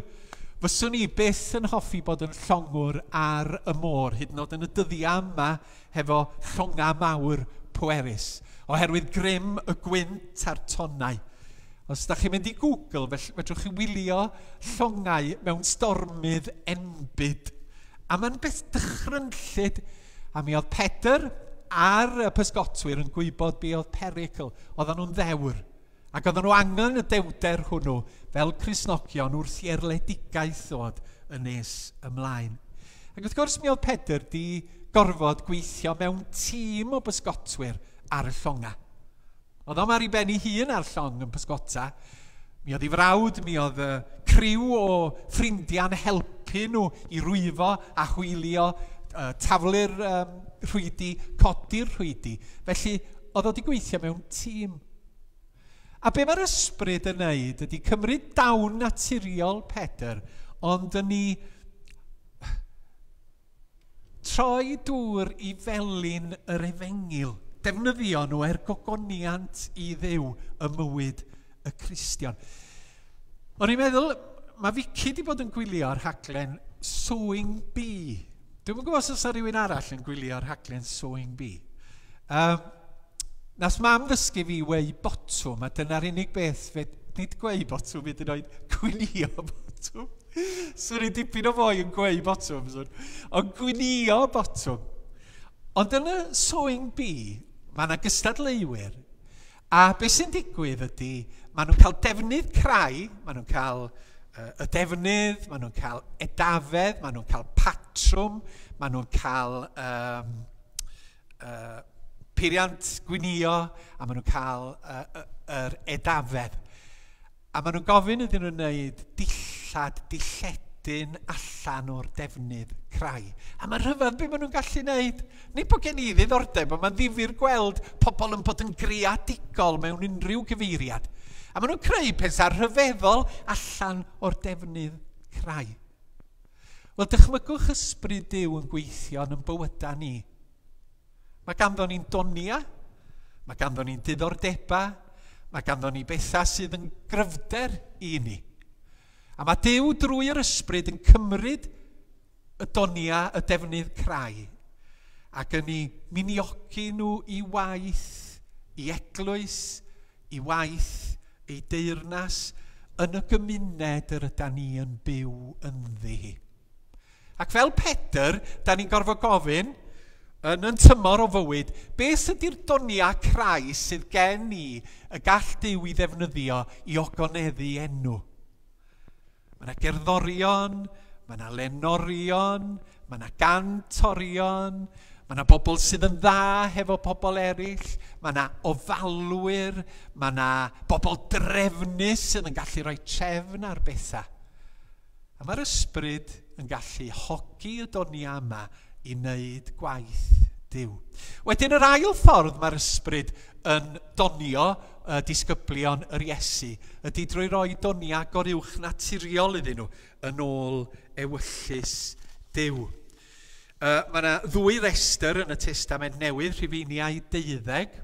Fyswn i byth yn hoffi bod yn llongwr ar y môr, hyd yn oed yn y dyddiau yma hefo llongau mawr pwerus, oherwydd grym y gwynt a'r tonnau. Os ydych chi'n mynd i Google, fedrwch chi wylio llongau mewn stormydd enbyd. A mae'n beth dychrynllyd. A mi oedd Pedr a'r pysgotwyr yn gwybod be oedd perygl. Oedden nhw'n ddewr. Ac oedden nhw angen y dewder hwnnw fel Cristnogion wrth i erledigaeth ddod yn nes ymlaen. Ac wrth gwrs mi oedd Pedr di gorfod gweithio mewn tîm o bysgotwyr ar y llonga. Oedd o'm ar ei ben ei hun ar llong yn pysgota. Mi oedd ei frawd, mi oedd y criw o ffrindiau'n helpu nhw i rwyfo a hwylio, taflu'r um, rhwydi, codi'r rhwydi. Felly, oedd o wedi gweithio mewn tîm. A be mae'r ysbryd yn neud ydy cymryd dawn naturiol Pedr, ond yn ei troi dŵr i felin yr efengyl. Defnyddio nhw er gogoniant i Dduw y mywyd y Cristion. O'n i'n meddwl, mae Vicky wedi bod yn gwylio'r rhaglen Sewing Bee. Dwi'm yn gwybod os oes rhywun arall yn gwylio'r rhaglen Sewing Bee. Um, Nas mam ddysgu fi weu botwm, a dyna'r unig beth, fe, nid gweu botwm, hyd yn oed gwylio botwm. Swn i dipyn o foi yn gweu botwm, swn. Ond gwylio botwm. Ond yn y Sewing Bee, mae yna gystadleuwyr, a beth sy'n digwydd ydy, maen nhw'n cael defnydd crai, maen nhw'n cael uh, y defnydd, maen nhw'n cael edafedd, maen nhw'n cael patrwm, maen nhw'n cael um, uh, peiriant gwinio, a maen nhw'n cael uh, uh, yr edafedd. A maen nhw'n gofyn iddyn nhw wneud dillad, dilledyn allan o'r defnydd crai. A mae'n rhyfedd be maen nhw'n gallu wneud. Nid bod gen i ddiddordeb, ond mae'n ddifyr gweld pobl yn bod yn greadigol mewn unrhyw gyfeiriad. A maen nhw'n creu pethau rhyfeddol allan o'r defnydd crai. Wel, dychmygwch ysbryd Duw yn gweithio yn bywydau ni. Mae ganddo ni'n donia, mae ganddo ni'n diddordebau, mae ganddo ni bethau sydd yn gryfder i ni. A mae Duw drwy'r ysbryd yn cymryd y donia, y defnydd crai, ac yn ei miniogi nhw i waith, i eglwys, i waith, ei deyrnas, yn y gymuned yr ydan ni yn byw ynddi hi. Ac fel Pedr, da ni'n gorfod gofyn, yn yn tymor o fywyd, beth ydy'r donia crai sydd gen i y gall Duw i ddefnyddio i ogoneddu enw? Mae yna gerddorion, mae yna lenorion, mae yna gantorion, mae yna bobl sydd yn dda hefo pobl eraill, mae yna ofalwyr, mae yna bobl drefnus sydd yn gallu rhoi trefn ar bethau. A mae'r ysbryd yn gallu hogi y donia yma i wneud gwaith Duw. Wedyn yr ail ffordd mae'r ysbryd yn donio uh, disgyblion yr Iesu ydy drwy roi donia goruwch naturiol iddyn nhw yn ôl ewyllys Duw. Uh, mae yna ddwy restr yn y Testament Newydd, Rhufeiniau deuddeg,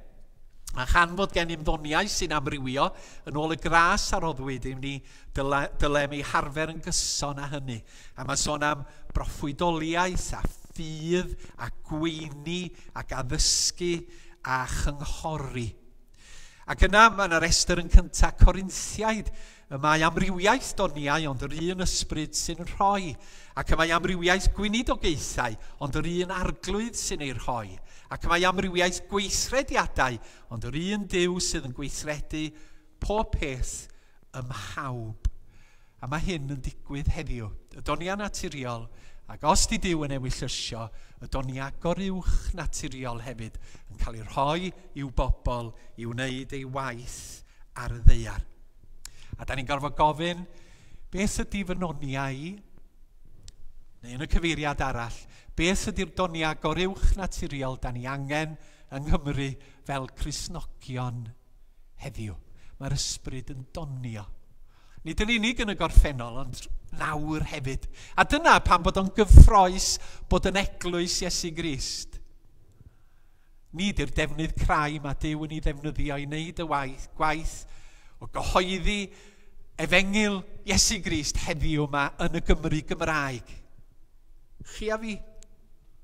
a chan fod gennym ddoniau sy'n amrywio yn ôl y gras a roddwyd i ni, dyle, dylem ei harfer yn gyson â hynny. A mae sôn am broffwydoliaeth a ffydd a gweini ac addysgu a chynghori. Ac yna mae yna restr yn cyntaf Corinthiaid. Y mae amrywiaeth doniau, ond yr un ysbryd sy'n rhoi. Ac y mae amrywiaeth gweinidogaethau, ond yr un arglwydd sy'n ei rhoi. Ac y mae amrywiaeth gweithrediadau, ond yr un Duw sydd yn gweithredu pob peth ym mhawb. A mae hyn yn digwydd heddiw. Y donia naturiol, ac os di Duw yn ewyllysio, y donia goruwch naturiol hefyd yn cael ei rhoi i'w bobl i wneud ei waith ar y ddaear. A da ni'n gorfod gofyn, beth ydy fy noniau i? Neu yn y cyfeiriad arall, beth ydy'r donia goruwch naturiol da ni angen yng Nghymru fel Cristnogion heddiw? Mae'r ysbryd yn donio. Nid yn unig yn y gorffennol, ond nawr hefyd. A dyna pam bod o'n gyffrous bod yn eglwys Iesu Grist. Nid yw'r defnydd crai mae Duw yn ei ddefnyddio i wneud y waith, gwaith o gyhoeddi efengyl Iesu Grist heddiw yma yn y Gymru Gymraeg. Chi a fi,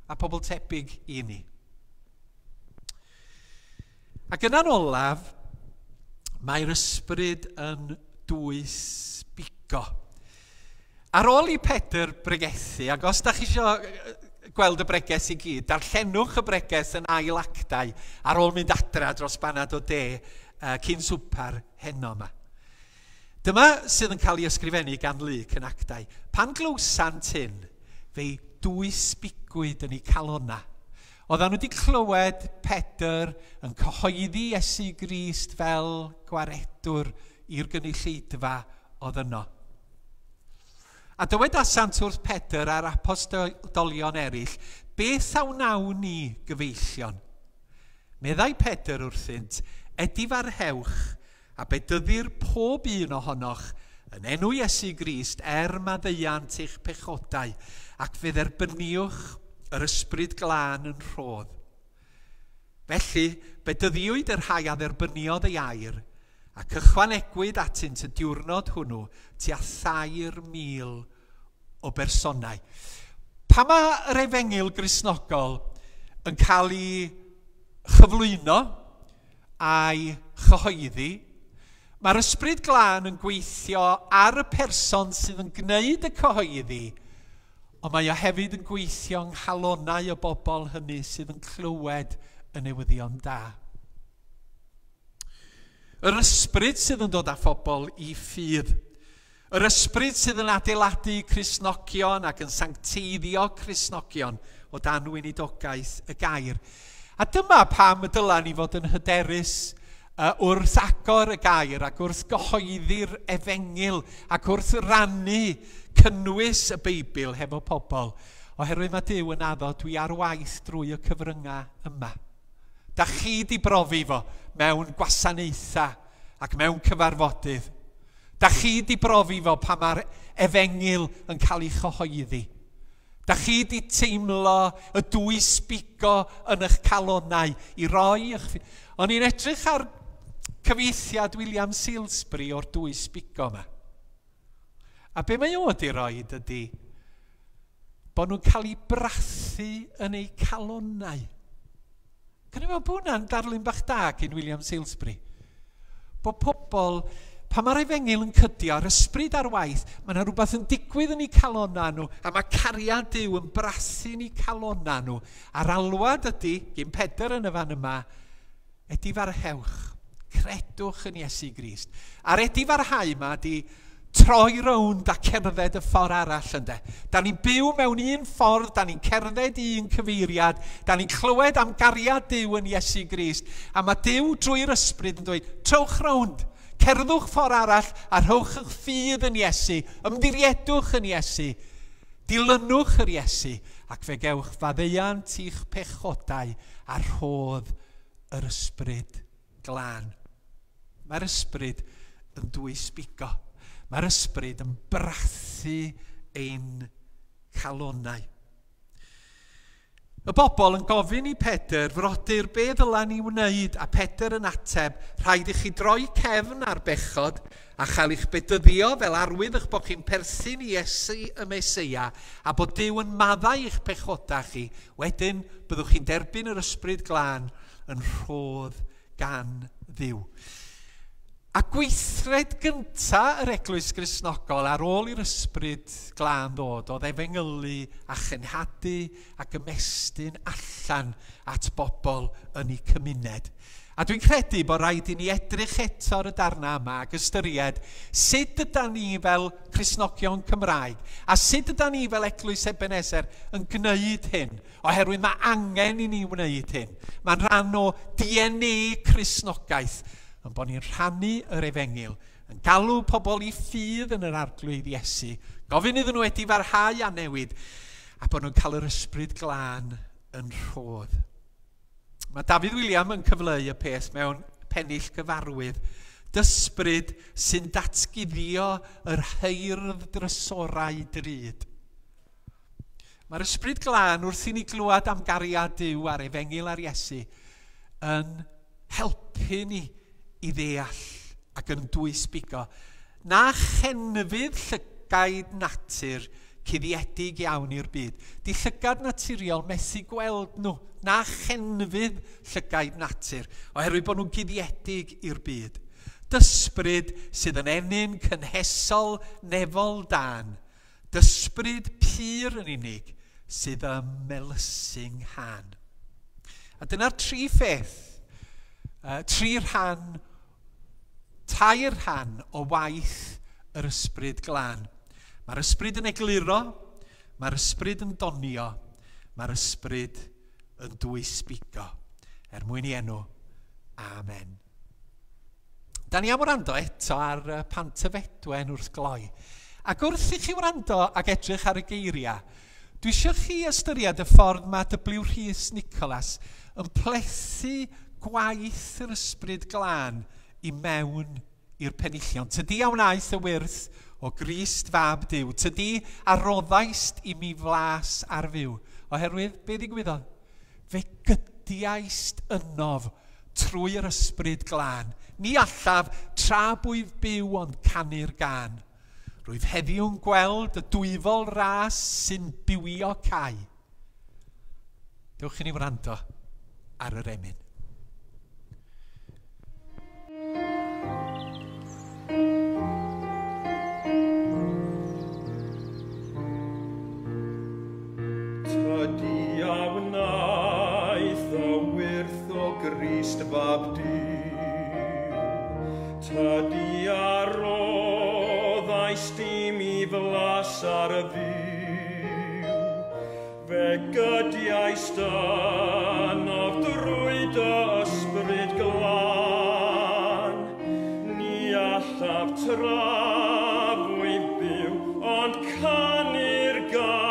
a pobl tebyg i ni. Ac yna'n olaf, mae'r ysbryd yn dwys bigo. Ar ôl i Pedr bregethu, ac os da chi isio gweld y bregeth i gyd, darllenwch y bregeth yn ail actau ar ôl mynd adra dros banad o de uh, cyn swpar heno yma. Dyma sydd yn cael ei ysgrifennu gan Luc yn actau. Pan glywsant hyn, fe'i dwysbigwyd yn eu calonnau. Oedden nhw wedi clywed Pedr yn cyhoeddi Iesu Grist fel gwaredwr i'r gynulleidfa oedd yno. A dywedasant wrth Pedr a'r apostolion eraill, beth a wnawn ni, gyfeillion? Meddai Pedr wrthynt, edifarhewch a bedyddir pob un ohonoch yn enw Iesu Grist er maddeuant eich pechodau, ac fe dderbyniwch yr ysbryd glân yn rhodd. Felly, bedyddiwyd y rhai a dderbyniodd ei air, ac ychwanegwyd atynt y diwrnod hwnnw tua thair mil o bersonau. Pa mae'r efengyl Gristnogol yn cael ei chyflwyno a'i chyhoeddi, mae'r ysbryd glân yn gweithio ar y person sydd yn gwneud y cyhoeddi, ond mae o hefyd yn gweithio yng nghalonnau y bobl hynny sydd yn clywed y newyddion da. Yr ysbryd sydd yn dod â phobl i ffydd. Yr ysbryd sydd yn adeiladu Cristnogion ac yn sancteiddio Cristnogion o dan weinidogaeth y gair. A dyma pam y dyla ni fod yn hyderus uh, wrth agor y gair ac wrth gyhoeddi'r efengyl ac wrth rannu cynnwys y Beibl hefo pobl, oherwydd mae Duw yn addo dwi ar waith drwy y cyfryngau yma. Da chi di brofi fo mewn gwasanaethau ac mewn cyfarfodydd. Da chi di brofi fo pan mae'r efengyl yn cael ei chyhoeddi. Da chi di teimlo y dwysbigo yn eich calonnau i roi eich... O'n i'n edrych ar cyfieithiad William Salisbury o'r dwysbigo yma. A be mae o wedi roi ydy bod nhw'n cael eu brathu yn eu calonnau. Can i meddwl bod hwnna'n darlun bach da gyn William Salisbury? Bod pobl, pan mae'r efengyl yn cydio, a'r ysbryd ar waith, mae yna rhywbeth yn digwydd yn eu calonnau nhw, a mae cariad Duw yn brathu yn eu calonnau nhw. A'r alwad ydy, gyn Pedr yn y fan yma, edifarhewch, credwch yn Iesu Grist. A'r edifarhau yma ydy troi rownd a cerdded y ffordd arall ynde. Da ni'n byw mewn un ffordd, da ni'n cerdded un cyfeiriad, da ni'n clywed am gariad Duw yn Iesu Grist, a mae Duw drwy'r ysbryd yn dweud, trowch rownd, cerddwch ffordd arall a rhowch eich ffydd yn Iesu, ymddiriedwch yn Iesu, dilynwch yr Iesu, ac fe gewch faddeuant i'ch pechodau a rhodd yr ysbryd glân. Mae'r ysbryd yn dwysbigo. Mae'r ysbryd yn brathu ein calonnau. Y bobl yn gofyn i Pedr, frodyr, be ddyla ni wneud? A Pedr yn ateb, rhaid i chi droi cefn ar bechod a chael eich bedyddio fel arwydd eich bod chi'n perthyn i Iesu y Meseia a bod Duw yn maddau eich pechodau chi. Wedyn byddwch chi'n derbyn yr ysbryd glân yn rhodd gan Dduw. A gweithred gynta yr Eglwys Gristnogol ar ôl i'r ysbryd glân ddod oedd efengylu a chenhadu ac ymestyn allan at bobl yn eu cymuned. A dwi'n credu bod rhaid i ni edrych eto ar y darna yma ac ystyried sut ydan ni fel Cristnogion Cymraeg a sut ydan ni fel Eglwys Ebenezer yn gwneud hyn, oherwydd mae angen i ni wneud hyn. Mae'n rhan o D N A Cristnogaeth, yn bod ni'n rhannu yr efengyl, yn galw pobl i ffydd yn yr Arglwydd Iesu, gofyn iddyn nhw edifarhau a newid, a bod nhw'n cael yr ysbryd glân yn rhodd. Mae Dafydd William yn cyfleu y peth mewn pennill gyfarwydd. Dysbryd sy'n datguddio yr heirdd drysorau drud. Mae'r ysbryd glân wrth i ni glywed am gariad Duw a'r efengyl ar Iesu yn helpu ni i ddeall ac yn dwysbigo. Na chenfydd llygaid natur cuddiedig iawn i'r byd. Di llygad naturiol methu gweld nhw. Na chenfydd llygaid natur, oherwydd bod nhw'n guddiedig i'r byd. Dysbryd sydd yn ennyn cynhesol nefol dan. Dysbryd pur yn unig sydd ym melysu 'nghân. A dyna'r tri pheth, uh, tri rhan, tair rhan o waith yr Ysbryd Glân. Mae'r Ysbryd yn egluro, mae'r Ysbryd yn donio, mae'r Ysbryd yn dwysbigo. Er mwyn i enw, amen. Da ni am wrando eto ar Pantyfedwen wrth gloi. Ac wrth i chi wrando ac edrych ar y geiriau, dwi eisiau chi ystyried y ffordd mae W. Rhys Nicholas yn plethu gwaith yr Ysbryd Glân i mewn i'r penillion. Tydi a wnaeth y wyrth o Grist fab Duw. Tydi a roddaist i mi flas ar fyw. Oherwydd, be ddigwyddodd? Fe gydiaist ynof trwy'r Ysbryd Glân. Ni allaf tra bwyf byw ond canu'r gân. Rwyf heddiw'n gweld y dwyfol ras sy'n bywio cae. Dewch i ni wrando ar yr emyn. Tydi a wnaeth y wyrth o Grist fab Duw, tydi a roddaist i mi flas ar y fyw, fe gydiaist ynof drwy dy Ysbryd Glân, ni allaf tra fwyf byw, ond canu'r gân.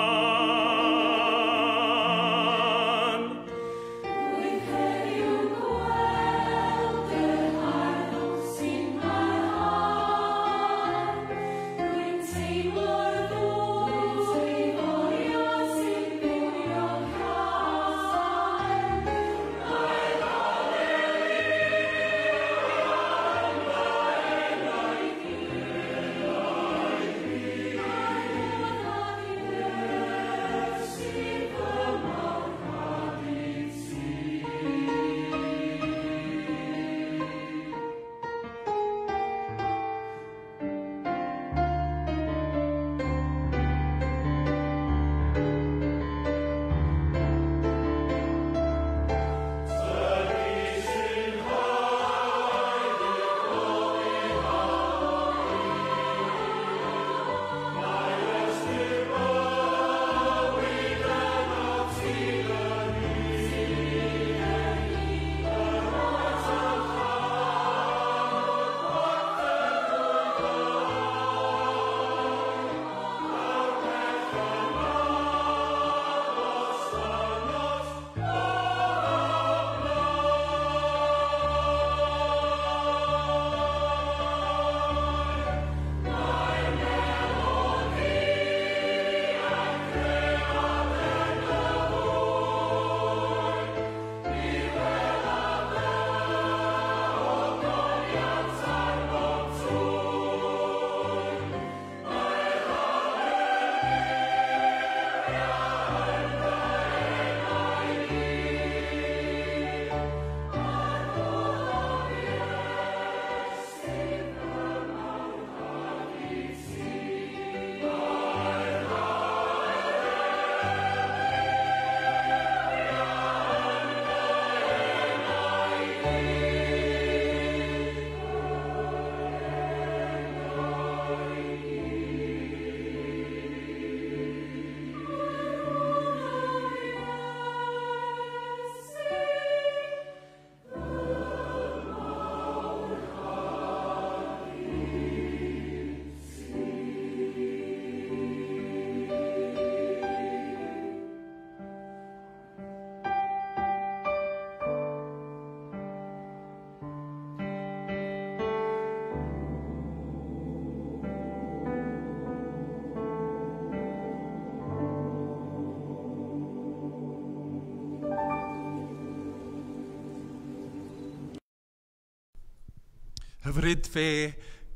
Hyfryd fe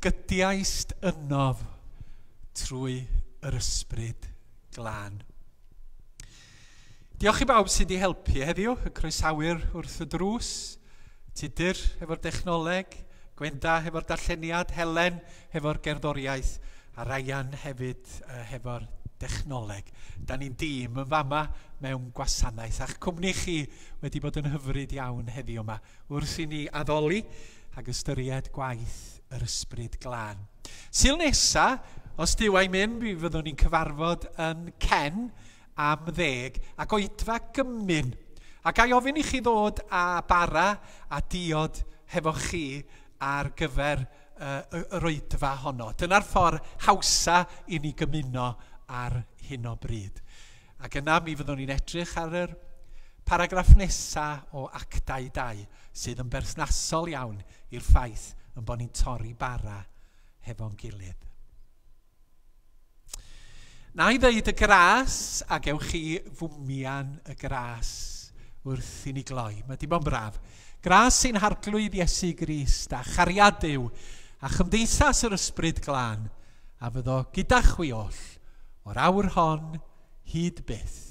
gydiaist ynof trwy yr Ysbryd Glân. Diolch i bawb sydd wedi helpu heddiw, y croesawyr wrth y drws, Tudur hefo'r dechnoleg, Gwenda hefo'r darlleniad, Helen hefo'r gerddoriaeth, a Ryan hefyd uh, hefo'r dechnoleg. Da ni'n dîm yn fama mewn gwasanaeth, a'ch cwmni chi wedi bod yn hyfryd iawn heddiw yma wrth i ni addoli ac ystyried gwaith yr Ysbryd Glân. Sul nesa, os Duw a'i mynd, mi fyddwn ni'n cyfarfod yn Cen am ddeg ac oedfa gymun. A ga i ofyn i chi ddod â bara a diod hefo chi ar gyfer uh, yr oedfa honno. Dyna'r ffordd hawsa i ni gymuno ar hyn o bryd. Ac yna mi fyddwn ni'n edrych ar yr paragraff nesaf o Actau dau sydd yn berthnasol iawn i'r ffaith yn bod ni'n torri bara hefo'n gilydd. Na i ddeud y gras, a gewch chi fwmian y gras wrth i ni gloi. Mae di bod yn braf. Gras sy'n Harglwydd Iesu Grist a chariad Duw a chymdeithas yr Ysbryd Glân a fyddo gyda chwi oll o'r awr hon hyd byth.